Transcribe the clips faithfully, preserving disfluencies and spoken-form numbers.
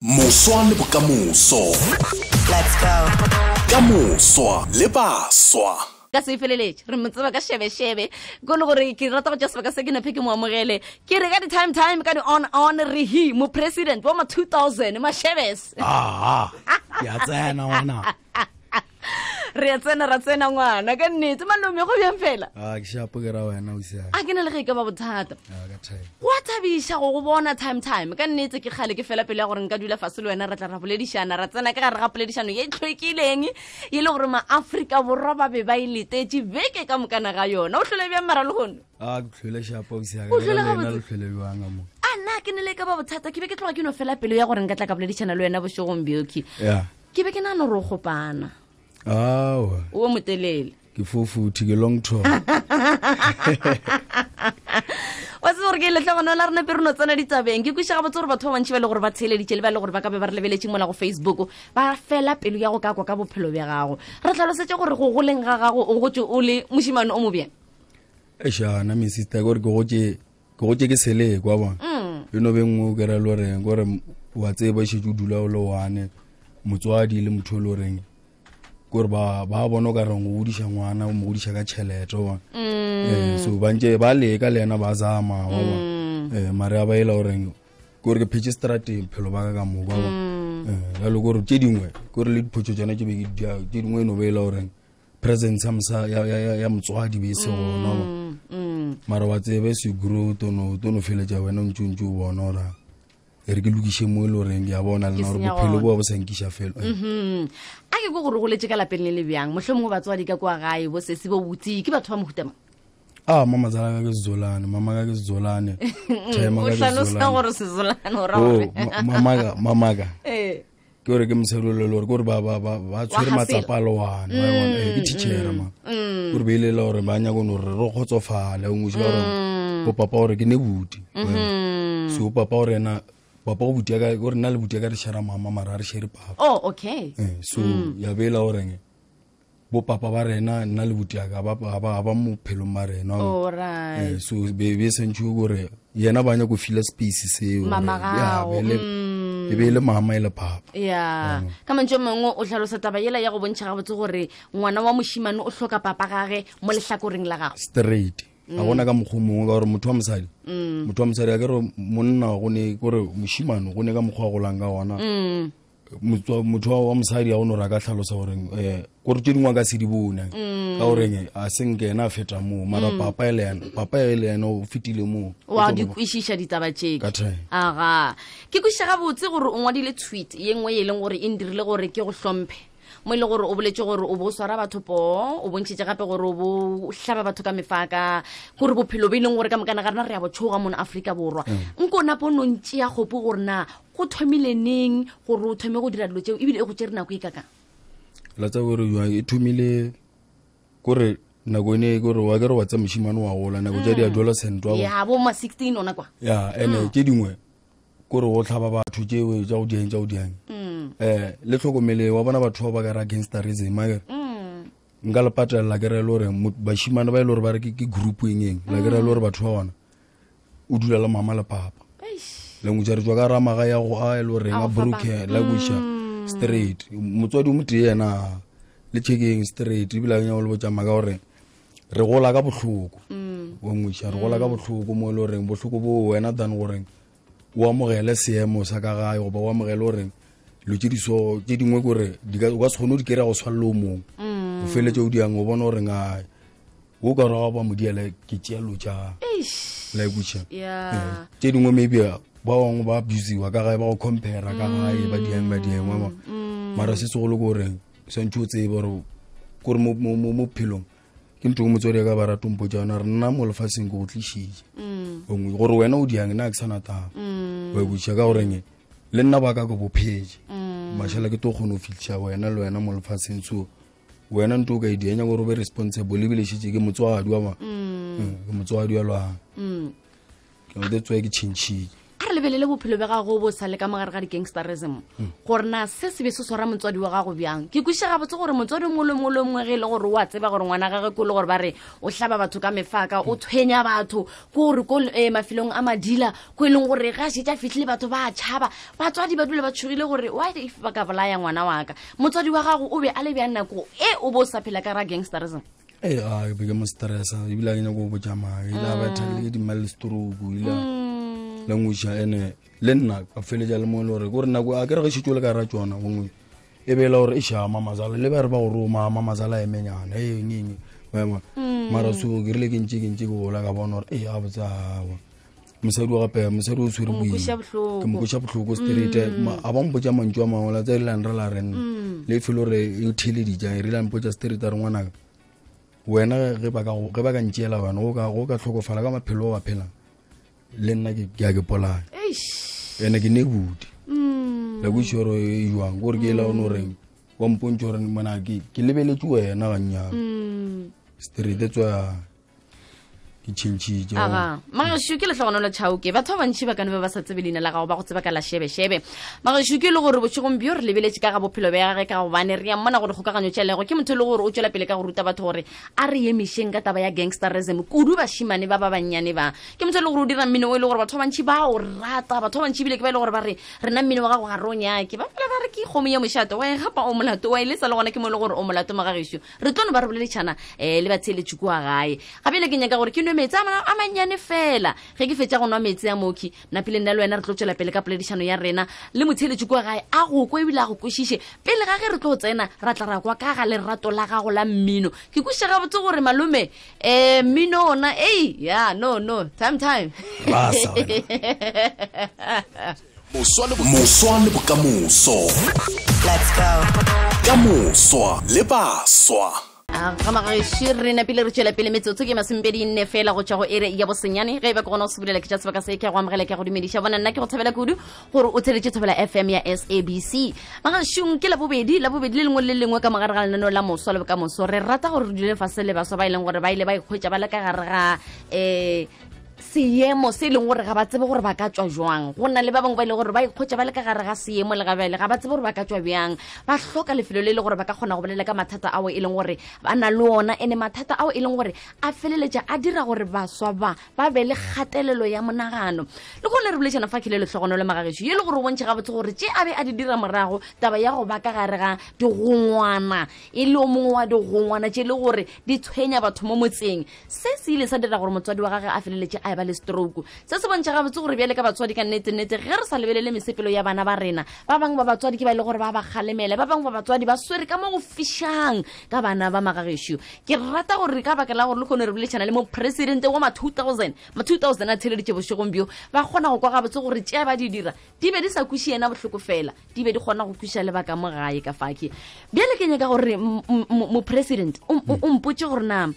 Moswa le bokamoso. Let's go. Kamoswa le baswa. Ka se feleletse re motse ba ka shebe shebe go le gore ke rata go just ba ka se ke na pheke mo amogele ke re ka di time time ka di on on re hi mo president wa ma two thousand ma shebes ah ya tsena wana re ya tsena ra tsena ngwana ka nnete malome go bjang fela ah ke shapo ke ra wena o sia a ke na le ge ka ba bothata ah ka thai wa thabisha go go bona time time ka nnete ke khale ke fela pele ya gore nka dula fase le wena ra tla ra boledišana ra tsena ka gare ga poledišano ye tlhwekileng e le gore ma-Afrika borwa ba be ba iletetse beke ka mokana ga yona o tlhole bjang mara le gono ah ke tlhole shapo o sia O tlhole ka gabotse? le tlhole bjanga mo a nna ke ne le ka ba bothata ke be ke tloga ke no fela pele ya gore nka tla ka boledišana le wena bošegong bjoki ya ke be ke nano re o gopana ah o motelele ke fofuthi ke long tour wa se gore ke letlha gona la rena pe re no tsena ditabeng ke kwiša ga botse gore batho ba bantšhi ba le gore ba tsheleditše le ba le gore ba ka be ba re lebeletse mola go Facebook ba fela pelo ya go ka kwa ka bophelo bja gago re tlhalosetse gore go goleng ga gago o gotse o le mošimane o mobjang e shana mi sister gore ke gotse ke gotse ke sele kwa bona e no bengwe o kera lo reng gore wa tseba se ju dula o le wane motswadi le motho le reng gore ba ba bona ka reng o godisha ngwana o mo godisha ka tšhelete wa eh so ba nje ba le ka lena ba zama wa bona eh mare ba ila o reng gore ke pitch strategy phelo ba ka mo ba eh la lo gore tše dingwe gore le dipotso tsana ke be ke dia tše dingwe no ba ila o reng presence amsa ya ya ya motswadi be se gona ba mara wa tsebe se grow to no to no fele ja wena ntšuntšu bona ora e re ke lokishe mo le reng ya bona le na gore bophelo bo bo senkisha fela mhm a ke go gore go letse ka lapeng le le bjang mohlomong batswadi ka kwa gae bo se se bo butsi ke batho ba mohutama ah mama zala ka ke zolane mama ka ke zolane tema o ka ke hlalosa zolane gore se zolane o ra oh gore ma- mama ka mama ka eh ke gore ke mserolo le gore gore ba ba ba ba tshwere Wa hasela. matsapa le wana ba bona eh ke teacher ma gore be ile la gore ba nya go no re re khotsofala o ngwe ba gore bo papa gore ke ne buti so papa gore na papa go buti ka gore na le buti ka re shara mama mara re shere papa oh okay eh so ya bela gore bo papa ba rena nna le buti ka ba ba ba ba mo phelo ma rena all right eh so be be sentšwe gore yena ba nya go feel space se Mama gao, e be le mama ile papa ya ka mantšho mangwe o tlhalosa taba yela ya go bontšha ga botse gore ngwana wa mošimane o hloka papa gage mo lehlakoreng la gago straight a gona ka mokgwa mongwe ka gore motho wa mosadi motho wa mosadi a ke re monna go ne gore mošimane go ne ka mokgwa go lang ka gona Motho- motho wa mosadi a go no ra ka tlhalosa gore eh gore tše dingwe a ka se di bone ka goreng a senke ena a feta moo mara papa e le ena papa e le ena o fetile moo wa di kwešiša ditaba tšeke Ka time. aga ke kwešiša gabotse gore o ngwadile tweet ye nngwe ye e leng gore e ndirile gore ke go hlomphe mo e le gore o boletse gore o bo swara batho po o bontšhitše gape gore o bo hlaba batho ka mefaka gore bophelo bo e leng gore ka mokana ga rena re ya botshoga mo na Afrika borwa nko napo no ntše ya kgopo gore na go thomile neng gore o thome go dira dilo tšeo ebile e go tšere nako e kakang la tsa gore ya e thomile gore nako ene gore wa ke re wa tsa mošimane wa gola nako tša di adolescent wa bona ya bo ma sixteen ona kwa ya ene tše dingwe kore go tlhaba batho tšeo tša go diang tša go diang eh le tlhokomele wa bona batho ba ba ka ra gangsterism a kere nka le patelela ke re le gore mo- bašimane ba e le gore ba re ke ke group eng eng la ke re le gore batho ba bona o dula le mama le papa le ngwe tša re tswa ka ramaga ya go a e le goreng A a go broke la kweša straight motswadi o motee yena le checking straight ebile a nya go le botšama ka gore re gola ka bohloko wa ngweša re gola ka bohloko mo e le goreng bohloko bo wena than goreng o amogele seemo sa ka gae goba o amogele goreng lo tše diso tše dingwe kore di ka- o ka se kgone o di kry-a go swalle o mongwe o feletse o diang o bona goreng a o ka ra ba modiele ke tšealo tša la ekweša ya tše dingwe maybe ba bangwe ba abusiwa ka gae ba go compara ka gae ba diang ba diang wa bona mara se segolo ke gore santse o tsebe gore kore mo mo- mo mo phelong ke ntho e motswadi ka ba ratompo tša yona re nna mo lefatsheng ke go tlišitše ongwe gore wena o diang nna ke sana taba wa ekweša ka goreng le nna ba ka ko bophetse mašala ke to kgone go fitlhiša wena le wena mo lefatsheng so wena nto o ka e dianya gore o be responsible ebile šitše ke motswadi wa ma ke motswadi wa lwana that's why ke tšhentšhitše a re lebelele bophelo ba gago bo sa le ka mogare ga di-gangsterism gore na se se be se swara motswadi wa gago bjang ke kwiša gabotse gore motswadi mole mole mongwe ge e le gore wa tseba gore ngwana gage ko le gore ba re o hlaba batho ka mefaka o tshwenya batho ko gore ko mafelong a madila ko e leng gore ga šetša fitlhile batho ba tšhaba batswadi ba dule ba tshogile gore why if ba ka bolaya ngwana wa ka motswadi wa gago o be a le bjang nako e o bo sa phela ka ra gangsterism e a be ke mo stressa ebile ke nyaka go botsa mae la ba thale di mal stroke ila la ngusha ene le nna ka feleja le mo le gore gore nako a ke re ge shitole ka ra tsona ngwe e be la gore e sha mama zala le ba re ba go roma mama zala e menyana e ngini wema mara so ke rile ke ntse ke ntse go la ka bona gore e a botsa mosadi wa gape mosadi o tshwere boima ke mo kusha botlhoko street a ba mpotsa mantšwa maola tsa ile nra la ren le felo re e thile di ja re la mpotsa street a re ngwana wena ge ba ka ge ba ka ntšela wena go ka go ka tlhokofala ka maphelo wa phela le nna ke ke a ke pola ene ke ne budi la go shoro e jwang gore ke la ono reng wa mpontšo gore mona ke ke lebeletse wena ga nya street tswa ke tšhentšhitše aga magesho ke letlhogonolo tšhauke batho ba bantšhi ba kane ba ba sa tsebe leina la gago ba go tseba ka la shebe-shebe magesho ke le gore botšhegong bio re lebeletse ka ga bophelo ba gage ka gobane re ya mmona gore kgokaganyo tšhelego ke motho le gore o tšwela pele ka go ruta batho gore a re emišeng ka taba ya gangsterism kudu bašimane ba ba bannyane ba ke motho le gore o dira mmino o e le gore batho ba bantšhi ba o rata batho ba bantšhi bile ke ba e le gore ba re rena mmino wa gago ga re o nyake ba fela ba re ke kgomo ya mošato wa e gapa o molato wa e le sa le gona ke mo e le gore o molato magagesho re tlono ba re boleletšhana um le batsheletši kua gae gape le ke nyaka gore ke nwe metsi a manyane fela ge ke fetša go nwa metsi a moki napile nna le wena re tlo tšwela pele ka poledišano ya rena le motheletši kwa gae a go kwa ebile a go kwešiše pele ga ge re tlo tsena ra tla ra kwa ka ga lerato la gago la mmino ke kweša gabotse gore malome um mmino ona ei ya no no time time moswa le bokamoso ka moswa le baswa ga magagesho re napile re tšwela pele metsotso ke masempedi nne fela go tšwa go ere ya bosenyane ge e ba ke gona go sebolela ke tša sebaka se ke go amogela ke go dumediša bona nna ke go thobela kudu gore o theletše thobela F M ya S A B C magagešong ke la bobedi la bobedi le lengwe le lengwe ka mogare ga lenaneo la moswa le bokamoso re rata gore re dule fase le baswa ba e leng gore ba ile ba ikgwetša ba le ka gare ga um seemo se e leng gore ga ba tsebe gore ba ka tswa jwang go nna le ba bangwe ba ile gore ba ikgwetša ba le ka gare ga seemo le gabele ga ba tsebe gore ba ka tswa bjang ba hloka lefelo le le gore ba ka kgona go bolela ka mathata ao e leng gore ba na le ona ene mathata ao e leng gore a feleletša a dira gore baswa ba ba be le kgatelelo ya monagano le gone re boletšana fa kele letlhogono le magagesho ye le gore o bontšhe gabotse gore tše a be a di dira morago taba ya go ba ka gare ga digongwana e le o mongwe wa digongwana tše le gore di tshwenya batho mo motseng se se ile sa dira gore motswadi wa gage a feleletše a ba le stroke se se bontšha gabotse gore bjale ka batswadi ka nnete-nnete ge re sa lebelele mesepelo ya bana ba rena ba bangwe ba batswadi ke ba ile gore ba ba galemele ba bangwe ba batswadi ba swere ka mo go fišang ka bana ba magagesho ke rata gore ka baka la gore le kgone re boletšana le mo presidente wa ma two thousand ma two thousand a theleditše bošegong bio ba kgona go kwa gabotse gore tšea ba di dira di be di sa kweši yena bohloko fela di be di kgona go kweša le baka mo gae ka fake bjale ke nyaka gore mo president o mpotše gore na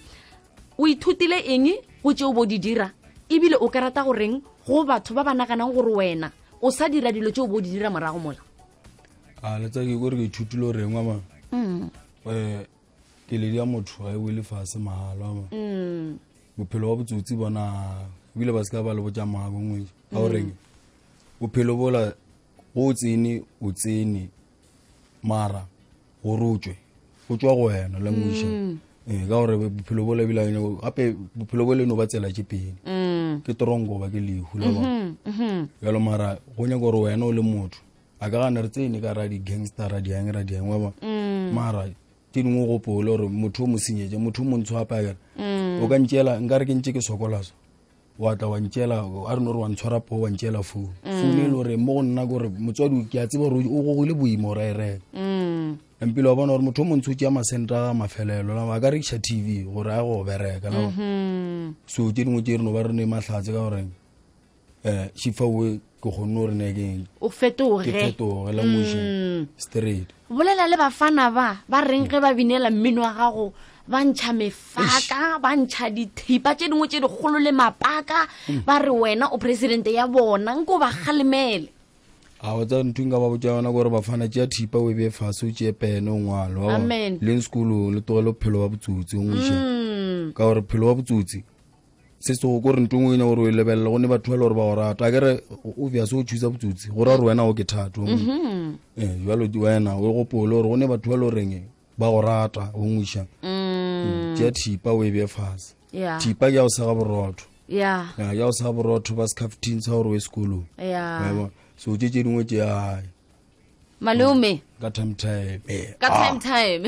o ithutile eng go tšeo bo di dira ebile o ka rata goreng go batho ba ba naganang gore wena o sa dira dilo tšeo bo di dira morago mola a letsa ke gore ke ithutile reng wa ma um ke le dia motho ga e wele fase mahala wa bophelo wa botsotsi bona ebile ba se ka ba le botša mago ngwe ga o reng bophelo bola go tsene o tsene mara go rotswe go tswa go wena la ngwisha eh ka gore bophelo bola bila gape bophelo bole no ba tsela tše pedi ke torongo ba ke lehu la ba ya lo mara go nya gore wena o le motho a ka gana re tsene ka ra di gangster ra di yang ra di yang wa ba mara tini ngo go polo gore motho o mo senyetse motho o mo ntshwapa ga o ka ntšela nka re ke ntše ke sokolaso wa tla wa ntšela a re no re wa ntshwara po wa ntšela phone phone e le gore mo go nna gore motswadi ke a tseba gore o gogile boimo ra e reka empile wa bona gore motho o mo ntshotse ya masenta mafelelo la ba ka rekša T V gore a go bereka la so tše dingwe tše re no ba re ne mahlatse ka gore um šifawe ke kgonne gore ne ke o fetoge ke fetoge la moši straight bolela le bafana ba ba reng ge ba binela mmino wa gago ba ntšha mefaka ba ntšha dithipa tše dingwe tše dikgolo le mapaka ba re wena o presidente ya bona nko ba galemele a wa tsa ntho nka ba botša yona gore bafana tšea thipa o be fase o tšee pene o ngwalo le sekolo le togele bophelo wa botsotsi o ngwiša ka gore bophelo wa botsotsi se se go re ntwe ngwe gore o lebelela go ne batho ba le gore ba go rata a kere o bia se o thusa botsotsi gore a re wena o ke thato eh jalo di wena o gopole gore go ne batho ba le goreng ba go rata o ngwisha tšea thipa o e bee fase thipa ke ya go sega borotho ya ya go sega borotho ba scaftin sa gore o e sekolong so tše tše dingwe tše ai malome ka time time ka time time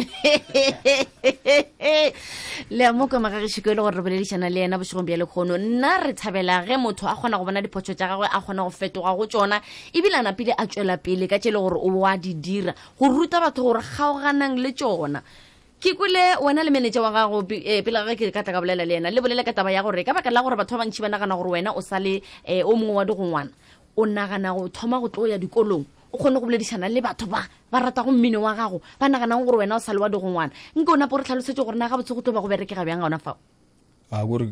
le a mo ka magagešiko e le gore re boledišana le yena bošegong bja lekgono nna re thabela ge motho a kgona go bona dipotso tša gagwe a kgona go fetoga go tšona ebile a napile a tšwela pele ka tše le gore o wa di dira go ruta batho gore kgaoganang le tšona ke kwele wena le manager wa gago pele ga ke ka tla ka bolela le yena le bolela ka taba ya gore ka baka la gore batho ba bantši ba nagana gore wena o sa le o mongwe wa digongwana o nagana go thoma go tlo ya dikolong o kgone go boledišana le batho ba ba rata go mmino wa gago ba naganang gore wena o sa le wa digongwana nke o napo re tlhalosetse gore na ga botse go tlo ba go bereke ga bjang ga ona fao a gore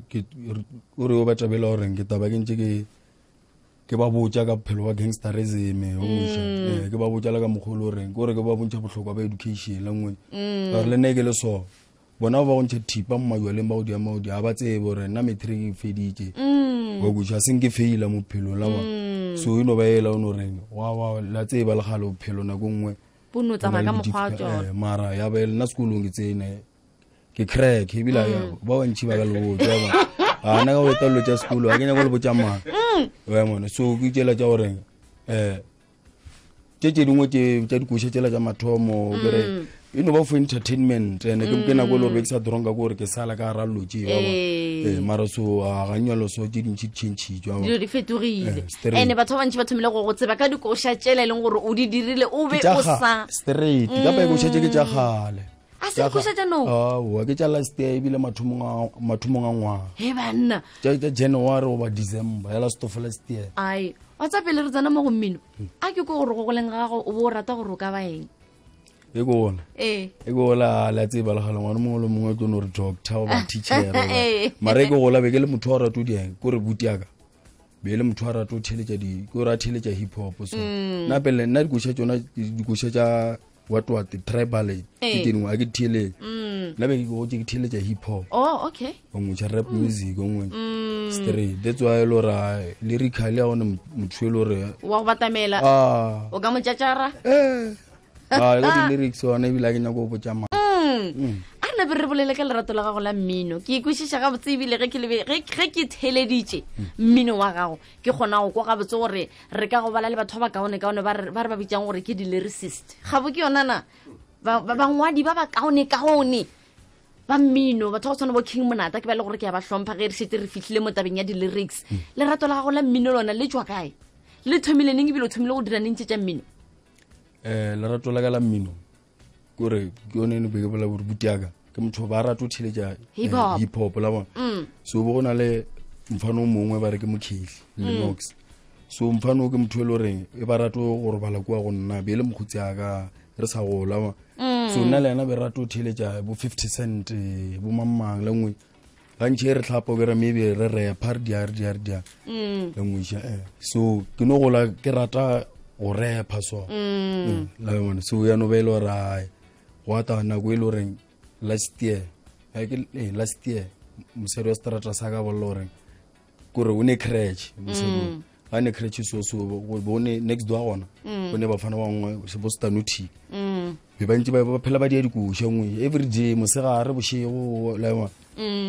o ba tabela goreng ke taba ke ntse ke ke ba botsa ka bophelo wa gangsterism o mosha ke ba botsa la ka mogolo goreng gore ke ba bontšha bohlokwa ba education la ngwe ba re le ne ke le so bona ba go ntšha thipa mmajwaleng ba go dia maodi a ba tsebe gore nna matric e feditše go botsa seng ke feila mo bophelong la bona so ino ba ela o no reng wa wa la tseba le gale bophelo nako nngwe bono tsamaya ka mokgwa wa tsona mara ya ba nna sekolong ke tsene ke crack e bila ya ba wa ntši ba ka le botsa ba a nna ka go etalo tša sekolo a ke nyaka go le botsa mang wa mona so ke tšela tša goreng um tše tše dingwe tša dikoša tšela tša mathomo kere e no ba for entertainment ene ke nako le gore ke sa dronka ko gore ke sala ka rallo tše ba ba mara so a ga nyalo so tše dintši tšhentšhitšwa dilo di fetogile ene batho ba bantši ba thomile go go tseba ka dikoša tšela e leng gore o di dirile o be o sa straight ka pa dikoša tše ke tša gale a se dikoša tša no a ke tša last year ebile mathomong a ngwaga he banna tša january goba december ya last of last year ai wa tsa pele re tsana mo go mmino a ke ko gore go goleng ga gago o bo o rata gore o ka baeng e gona e gola la tseba la gala ngwana mongwe le mongwe o tlo re doctor o ba teacher mara e gola be ke le motho wa rato dieng ko re butiaka be le motho wa rato theletša di ko ra theletša hip hop so na pele nna dikoša tsona dikoša tša what what tribal ke dingwe a ke thele nna be ke go ke theletša hip hop oh okay o ngwe rap music o ngwe straight that's why lo ra lyrically a ona motho le re wa go batamela o ka mo tšatšara eh ah ga di lyrics ona ebile ke nyako go botsa ma a nna be re bolele ka lerato la gago la mmino ke ikwešiša ga botse ebile ge ke theleditše mmino wa gago ke kgona go kwa ga botse gore re ka go bala le batho ba kaone kaone ba re ba bitsang gore ke di-lyricist ga bo ke yonana bangwadi ba ba kaone kaone ba mmino batho go tshwana bo King Monata ke ba le gore ke ya ba hlompha ge re šetse re fitlhile mo tabeng ya di-lyrics lerato la gago la mmino lona le tswa kae le thomile neng ebile o thomile go dira neng tše tša mmino eh la rato la ka la mmino gore ke yone ne be ke bola gore butiaka ke motho ba rata o theletša hip hop la bona so bo gona le mfano mongwe ba re ke mokheli le Nox so mfano ke motho le goreng e ba rata gore bala kwa go nna be le mogotsi aka re sa gola ba so nna le yena be rata o theletša bo fifty cent bo mamang le ngwe ga ntšhe re tlhapa ke re maybe re re par dia dia dia le ngwe so ke no gola ke rata o repa so la bona so ya no belo ra wa ta na go ile reng last year ha ke last year mosero wa strata sa ka bollo reng gore o ne crash mosero ha ne crash so so go bone next door gona o ne ba fana wa ngwe se bo stanuti be ba ntse ba phela ba di dikuša ngwe every day mosega re bošego la bona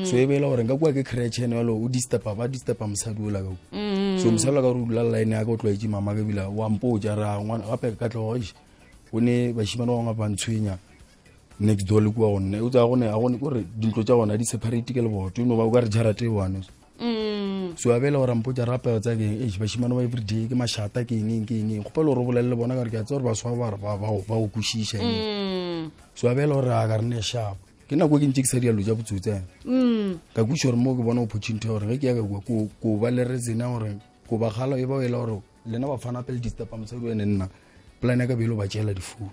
so e bela gore nka kwa ke crash ene lo o disturb ba disturb mosadi o la ka so mosala ka rula line ya go tloetse mama ka bila wa mpoja ra ngwana gape ka tloga o ne ba shimana wa ba ntshwenya next door le kwa gone o tsa gone a gone gore dintlo tša gona di separate ke le boto no ba o ka re jarate one so a bela gore mpoja rape tsa ke e ba shimana ba every day ke mashata ke eng ke eng go pelo re bolelle bona ka re ke a tsore ba swa ba ba ba go kushisha so a bela gore a ka re ne sharp ke nako ke ntse ke sa dialo ja botsotse ka kuša gore mo ke bona opportunity gore ge ke ya ka kwa ko ba le re tsena gore ko ba gala e ba ela gore lena ba fana pele disturb mosadi ene nna plan ya ka belo ba tšela difounu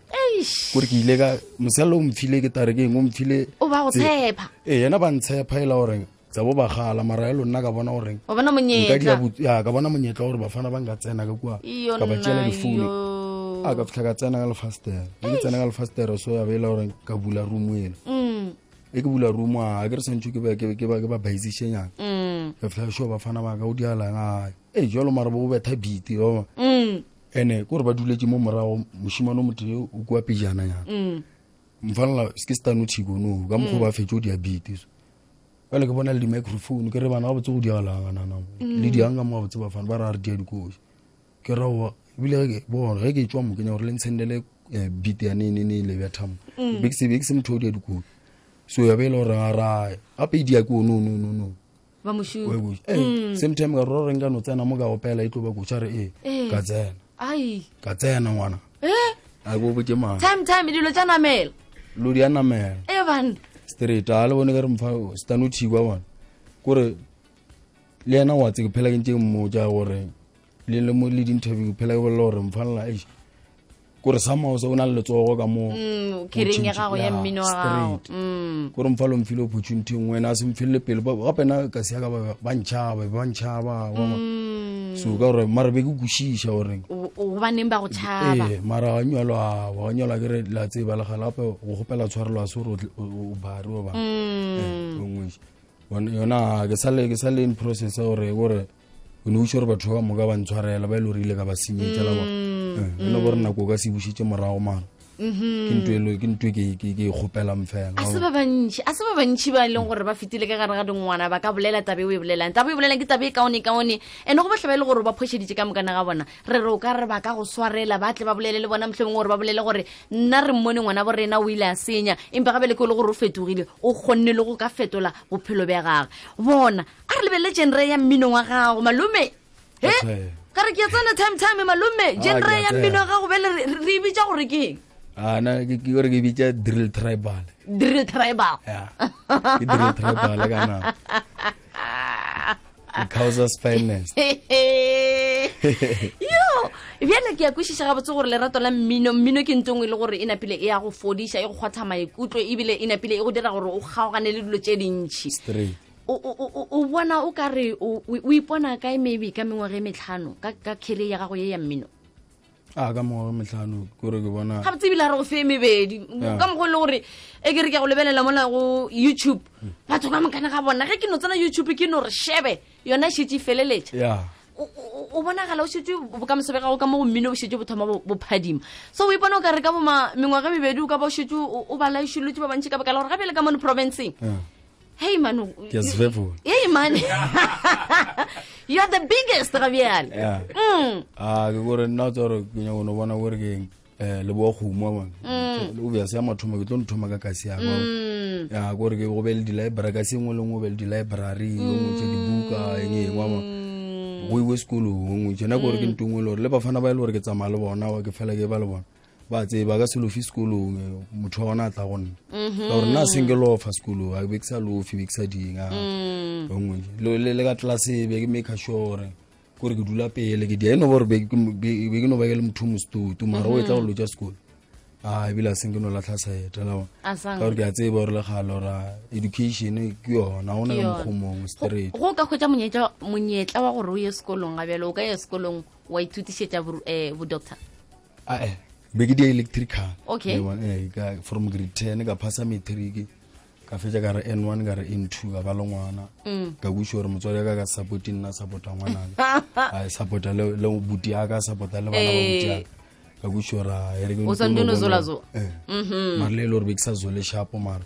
gore ke ile ka mosalo o mfile ke tare ke eng o mfile o ba go tshepa ee yena ba ntshepa ela gore tsa bo ba gala mara elo nna ka bona gore o bona monyetla ya ka bona monyetla gore ba fana ba nka tsena ka kwa ka ba tšela difounu a ka fitlha ka tsena ka lefastere ke tsena ka lefastere so ya bela gore ka bula room eno e ke bula room a ke re santse ke ba ke ba ke ba baizishenyana ka fla sho ba fana ba ka o dialang a e jolo mara bo betha biti o mm ene ko re ba duletse mo morago moshimano motho o kwa pejana ya mm mfalla ske stanu tshikono ka mo ba fetjo dia biti ba le ke bona le di microphone ke re bana ba botse go dialang nana le di anga mo ba botse ba fana ba ra re dia dikoshi ke ra wa bile ke bo re ke tswa mo ke nya gore le ntshendele biti ya nene ne le betham big se big se motho dia dikoshi so ya bele re ra a pe dia ko no no no no ba mushu eh same time ga ro renga no tsena mo ga opela itlo ba go tshare eh ka tsena ai ka tsena ngwana eh a go botse ma time time dilo tsa namela lo dia namela e ban straight a le bone ka re mfa stanu tshikwa bona gore le ena wa tse ke phela ke ntse mo ja gore le le mo le di interview phela ke bolela gore mfalla eish gore sama o se ona le tsogo ka mo mm kiring ya gago ya mmino wa gago mm gore mfalo mfile opportunity ngwena a se mfile pele ba gape na ka se ya ka ba ntshaba ba ntshaba wa so ka gore mara be ke kushisha gore o ba neng ba go tshaba eh mara a nyalwa wa nyalwa ke re la tse ba la galape go gopela tshwarelwa se re o bari wa ba eh ngwe bona yona ke sale ke sale in process gore gore o ne o shore batho ba mo ka ba ntshwarela ba ile rile ka ba senyetsa la ba eh no bona go ka se bushitse morago mara mhm ke ntwelo ke ntwe ke ke ke gopela mfela a se ba bantši a se ba bantši ba leng gore ba fitile ka gare ga dingwana ba ka bolela tabe o e bolelang tabe o e bolelang ke tabe e kaone kaone ene go batla ba ile gore ba phosheditse ka mokana ga bona re re o ka re ba ka go swarela ba tle ba bolele le bona mohlomong gore ba bolele gore nna re mmone ngwana bo rena o ile a senya empa ga bele ko le gore o fetogile o kgonne le go ka fetola bophelo ba gagwe bona a re lebelle genre ya mmino wa gago malume he ka re ke tsana time time malume genre ya mmino wa gago bele re bitsa gore ke ah na ke ke gore ke bitsa drill tribal drill tribal ya ke drill tribal kana Causa's finest yo bjale ke ya kwishisha ga botse gore lerato la mmino mmino ke ntongwe le gore ina pile e ya go fodisha e go kgwatha maikutlo e bile ina pile e go dira gore o kgaogane le dilo tše dintšhi straight o o o bona o ka re o ipona kae maybe ka mengwaga e metlhano ka ka career ya gago ye ya mmino a ka mo metlhano gore ke bona ga botse bila re go fe mebedi ka mo go le gore e ke re ke go lebelela mona go YouTube batho ka mokana ga bona ge ke no tsena YouTube ke no re shebe yona shitse feleletša ya o bona gala o shitse bo ka mosebe gago ka mo go mmino o shitse bothoma bo phadima so o ipona o ka re ka boma mengwaga e mebedi o ka ba o shitse o ba laishulutse ba bantši ka baka la gore gape le ka mono provinceng hey man yes vevo hey man you are the biggest Gabriel yeah mm ah ke gore nna tsoro ke nya go no bona gore ke eh le bo go mo mang o bya se ma thoma ke tlo nthoma ka kasi ya go ya gore ke go be le di library ka se ngwe le ngwe be le di library go mo tse di buka enge mama go iwe school go mo tsena gore ke ntungwe le le ba fana ba ile gore ke tsamaya le bona wa ke fela ke ba le bona ba tse ba ka se lo fi school motho ona tla gonna ka gore na single of school a be ksa lo fi biksa dinga ngwe le le ka class be ke make sure gore ke dula pele ke di eno gore be ke no ba ke le motho mostu tu mara o etla go lo ja school ah e bila single no la tlasa eta la ka gore ke a tseba gore le galo ra education ke yona ona le mkhomong straight go ka khotsa monyetla monyetla wa gore o ye sekolong ga bjalo o ka ye sekolong wa ithutisetsa eh bo doctor ah eh be ke di electrical okay eh ka from grade ten ka phasa matric ka fetsa ka re N one ka re N two ka ba le ngwana ka busho re motswadi ka ka support nna support ngwana a support le le buti ya ka support le bana ba buti ya ka busho ra ere ke o sa ndono zola zo mhm mara le lore be ke sa zole sharp mara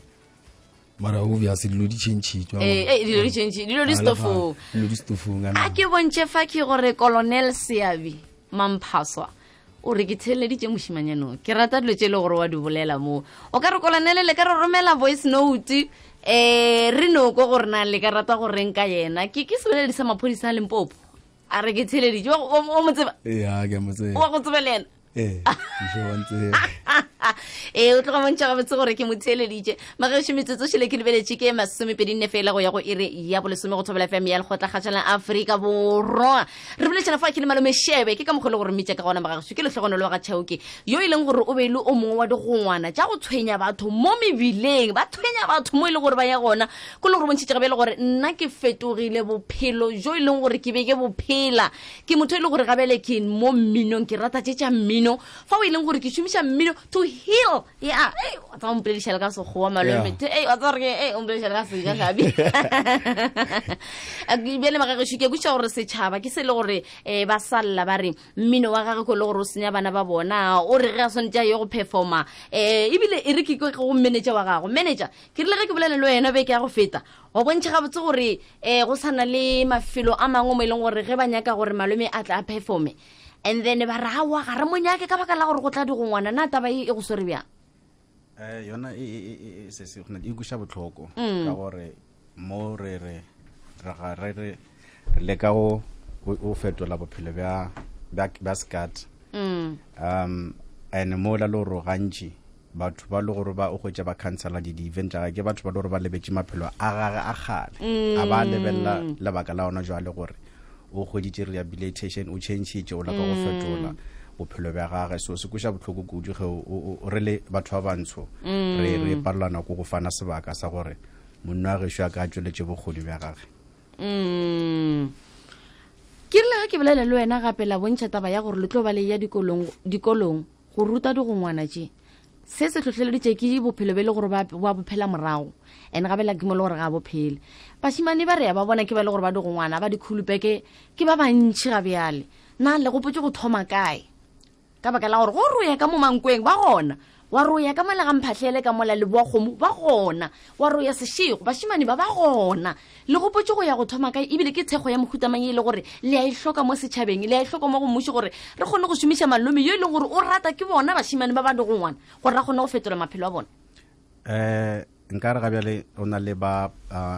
mara o vya se dilo di change tswa eh eh dilo di change dilo di stofu dilo di stofu ngana a ke bonche fa ke gore Colonel Seabi Mamphaswa o re ke theleditse moshimanyano ke rata dilo tse le gore wa di bolela mo o ka re Colonel le ka re romela voice note eh re no go gore na le ka rata go renka yena ke ke se bolela di sa maphodisa le Limpopo a re ke theleditse o mo tseba eh ha ke mo tseba o go tsebelena eh je wantse eh o tloga montša ga botse gore ke motheleditše magesho metsotso šele ke lebeletše ke masomepedinne fela go ya go ire ya bolesome go thobela fm ya lekgotla kgatšhalang Afrika Borwa re boletšana fa ke le malome shebe ke ka mokgole gore mmitša ka gona magesho ke letlhogonolo wa ga Tšhauke yo e leng gore o be le o mongwe wa digongwana tša go tshwenya batho mo mebileng ba tshwenya batho mo e le gore ba ya gona ko le gore bontšhitše gabe le gore nna ke fetogile bophelo jo e leng gore ke be ke bophela ke motho e le gore gabele ke mo mminong ke rata tše tša mmino fa o e leng gore ke šomiša mmino to heal ya eh wa tsa mpoledišala ka sekgowa malome eh wa tsa re eh o mpoledišala ka sega gabi a ke bele magagešo ke kuša gore setšhaba ke se le gore eh ba salla ba re mmino wa gagwe ko le gore o senya bana ba bona o re ge a swantša ye go performa eh ebile e re ke go manager wa gago manager ke rile ge ke bolele le wena be ke ya go feta wa bontšha gabotse gore eh go sana le mafelo a mangwe mo e leng gore ge ba nyaka gore malome a tla a performe and then ba ra wa ga re monyake ka baka la gore go tla di go ngwana na taba e go sore bjang eh yona e se se gona di gusha botlhoko ka gore mo re re ra re re le ka o o fetola bophelo bja ba skat um and mo la loro gantši batho ba le gore ba o go tša ba cancela di event ga ke batho ba le gore ba lebetse maphelo a gage a gale a ba lebella lebaka la ona jwa le gore o go di rehabilitation o change o la ka go fetola bophelo bja gage so se kuša botlhoko kudu ge o re le batho ba bantsho re re parlana go go fana sebaka sa gore monna wa gešo a ka tšweletše bokgoni bja gage ke rile ga ke bolela le wena gape la bontšha taba ya gore le tlo ba le ya dikolong dikolong go ruta di go ngwana tše se se tlhotlheleditše ke bophelo be le gore ba bophela morago and gabe la ke mo le gore ga bophele bašimane ba re ya ba bona ke ba le gore ba di go ngwana ba dikhulupeke ke ba bantšhi ga bjale na le gopotse go thoma kae ka baka la gore go roya ka mo mankweng ba gona wa roya ka malagamphatlhele ka mola le boakgomo ba gona wa roya sešego bašimane ba ba gona le gopotse go ya go thoma kae ebile ke thekgo ya mohutamang e le gore le a e hloka mo setšhabeng le a e hloka mo go mmuši gore re kgone go šomiša malome yo e leng gore o rata ke bona bašimane ba ba di go ngwana gore ra kgone go fetola maphelo a bona um nka re gabjale o na le ba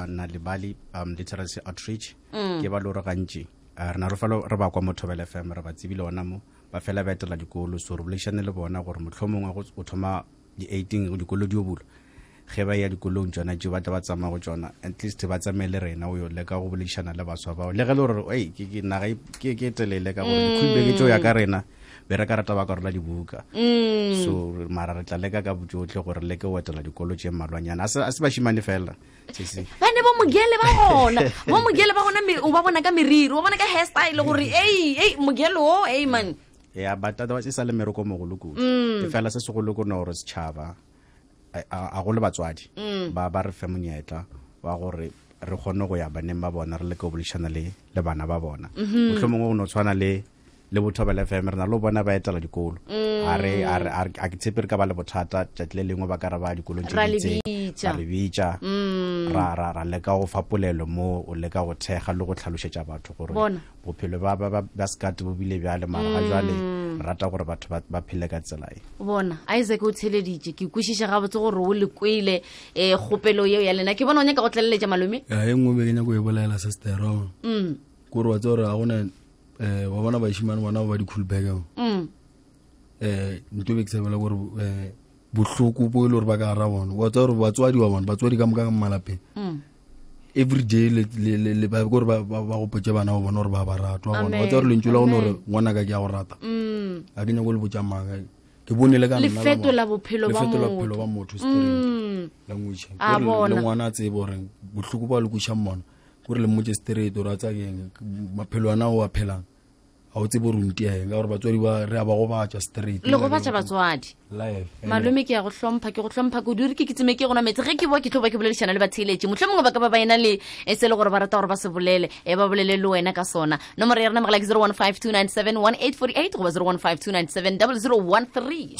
na le bali um literacy outreach ke ba le gore gantši re na re fa re ba kwa mo Thobela F M re ba tsebile ona mo ba fela ba etela dikolo so re bolešane le bona gore mohlomongwe o thoma di-eighteen dikolo di o bulo ge ba ya dikolong tsona tšeo ba tla ba tsamaya go tsona at least ba tsamaye le rena o yo leka go boledišana le baswa bao le ge le gore ei naga ke telele ka gore dikhulbeke tseo ya ka rena be re ka rata ba ka rola dibuka so mara re tla leka ka botsotlhe gore leke o etela dikolo tše mmalwanyana a se bašimane fela bane bo mogele ba gona bo mogele ba gona o ba bona ka meriri o bona ka hairstyle gore ei ei mogele o ei man ya bata da se sa le meroko mogolo kudu e fela se se go le go no re setšhaba a go le batswadi ba ba re fe monyetla wa gore re kgone go ya baneng ba bona re le ka bolešana le le bana ba bona mohlomongwe go no tshwana le le Thobela F M re na le bona ba etela dikolo a re a ke tshepe re ka ba le bothata tšatši le lengwe ba ka ra ba dikolong tše ditse ra re bitša ra ra ra leka go fapolelo mo o leka go thega le go tlhalošetša batho gore bophelo ba ba skat bo bile bjale mara ga jwale rata gore batho ba phele ka tsela e bona Isaac o tsheleditše ke kwešiša gabotse gore o le kwele um kgopelo yeo ya lena ke bona o nyaka go tlaleletša malome ya e nngwe be ke nyako e bolela sestero kore wa tse gore ga gona eh wa bona bašimane bona ba dikhulbeke mm eh ntwe be ke sebela gore eh bohloko bo ile gore ba ka ra bona wa tsa gore batswadi wa bona batswadi ka moka ka malapeng mm every day le le ba gore ba ba go potse bana ba bona gore ba ba ratwa bona wa tsa gore le ntšula gore ngwana ka ke ya go rata mm a ke nyako le botšamaga ke bonele ka nna le fetola bophelo ba motho le fetola bophelo ba motho straight language gore le ngwana a tsebe gore bohloko ba le kuša mmona gore le motse straight o ratsa keng maphelo ana o a phelang a o tsebe gore o ntieng ka gore batswadi ba re a ba go batša straight le go batša batswadi live malome ke ya go hlompha ke go hlompha go dure ke ke tseme ke gona metse ge ke bo ke tlo ba ke boledišana le batheletše mohlomongwe ba ka ba ba ena le e se le gore ba rata gore ba se bolele e ba bolele le wena ka sona nomoro ya rena mogala ke zero one five two nine seven one eight four eight goba zero one five two nine seven zero zero one three